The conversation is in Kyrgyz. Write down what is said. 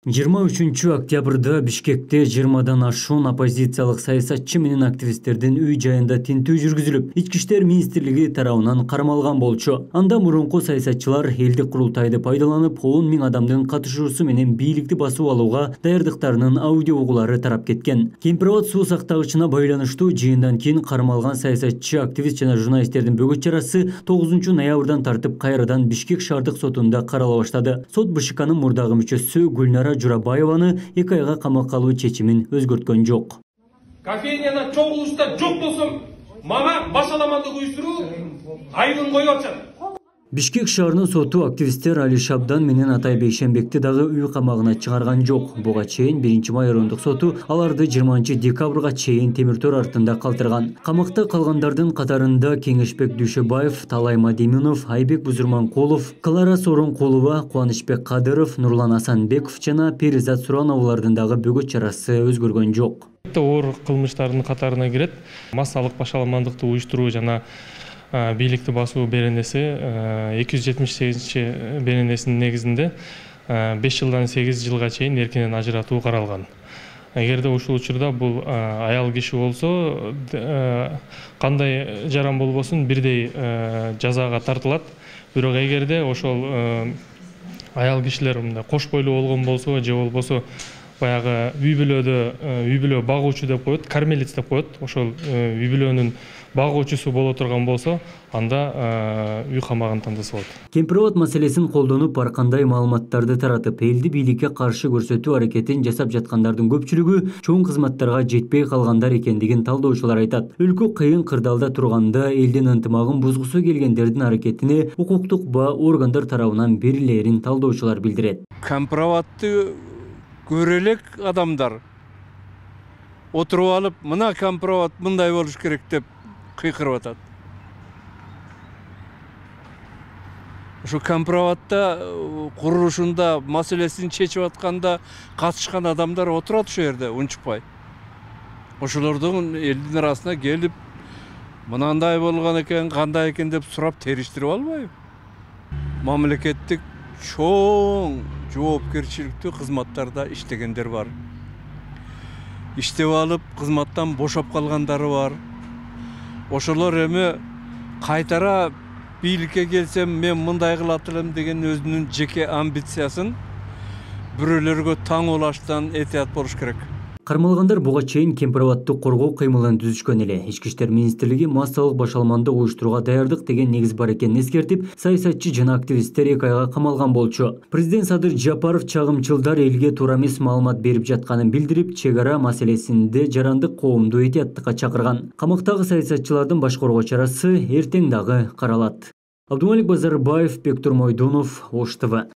23 октябрда Бишкекте 20дан ашуун оппозициялык саясатчы менен активисттердин үй жайында тинтүү жүргүзүлүп, Ички иштер министрлиги тарабынан кармалган болчу. Анда мурунку саясатчылар элдик курултайды пайдаланып, 10 000 адамдын катышуусу менен бийликти басып алууга даярдыктарынын аудио угулары тарап кеткен. Кемпирабад суу сактагычына байланыштуу жыйындан кийин кармалган саясатчы, активист жана журналисттердин бөгөт чарасы 9 ноябрдан тартып кайрадан Бишкек шаардык сотунда карала баштады. Сот БШКнын мурдагы мүчөсү Гүлнара Журабаеваны 2 айга камакка алуу чечимин өзгөрткөн жок. Кофейняда чогулушта жок болсом, мага башаламандык уюштуруу айдын коюп атышат. Бишкек шаарынын соту активисттер Али Шабдан менен Атай Бейшенбекти дагы үй камагына чыгарган жок. Буга чейин 1-май райондук соту аларды 20 декабрга чейин темир тор артында калтырган. Камакта калгандардын катарында Кеңешбек Дүйшөбаев, Талай Мадиминов, Айбек Бузурманкулов, Клара Сооронкулова, Кубанычбек Кадыров, Нурлан Асанбеков жана Перизат Сурановалардын дагы бөгөт чарасы өзгөргөн жок. Оор кылмыштардын катарына кирет. Массалык башаламандыкты уюштуруу жана бийликти басуу беренеси 278 беренесинин негизинде 5 жылдан 8 жылга чейин эркинен ажыратуу каралган. Эгерде ушул учурда бул аял киши болсо, кандай жаран болбосун бирдей жазага тартылат. Бирок эгерде ошол аял кишилер кош бойлуу болгон болсо же болбосо баягы үй бүлө багуучу деп коет, кормилец деп коет. Ошол үй бүлөнүн багуучусу боло турган болсо, анда үй камагын тандаса болот. Кемпирабад маселесин колдонуп, ар кандай маалыматтарды таратып, элди бийликке каршы көрсөтүү аракетин жасап жаткандардын көпчүлүгү чоң кызматтарга жетпей калгандар экендигин талдоочулар айтат. Өлкө кыйын кырдаалда турганда элдин ынтымагын бузгусу келгендердин аракетине укуктук ба органдар тарабынан берилерин талдоочулар билдирет. Кемпирабадты көрө элек адамдар отуруп алып, мына Кемпирабад мындай болуш керек деп кыйкырып атат. Ошо Кемпирабадда курулушунда маселесин чечип атканда катышкан адамдар отурат ошол жерде унчукпай. Ошолордун элдин арасына келип, мынандай болгон экен, кандай экен деп сурап териштирип албайбы? Мамлекеттик чоң жоопкерчиликтүү кызматтарда иштегендер бар. Иштеп алып, кызматтан бошоп калгандары бар. Ошолор эми кайтара бийликке келсем, мен мындай кылат элем деген өзүнүн жеке амбициясын бирөөлөргө таң улаштан этият болуш керек. Кармалгандар буга чейин Кемпирабадды коргоо кыймылын түзүшкөн эле. Ички иштер министрлиги массалык башаламандык уюштурууга даярдык деген негиз бар экенин эскертип, саясатчы жана активисттер 2 айга камалган болчу. Президент Садыр Жапаров чагымчылдар элге туура эмес маалымат берип жатканын билдирип, чек ара маселесинде жарандык коомду этияттыкка чакырган. Камактагы саясатчылардын баш коргоо чарасы эртең дагы каралат. Абдумалик Базарбаев, Бектур Мойдунов, Ош ТВ.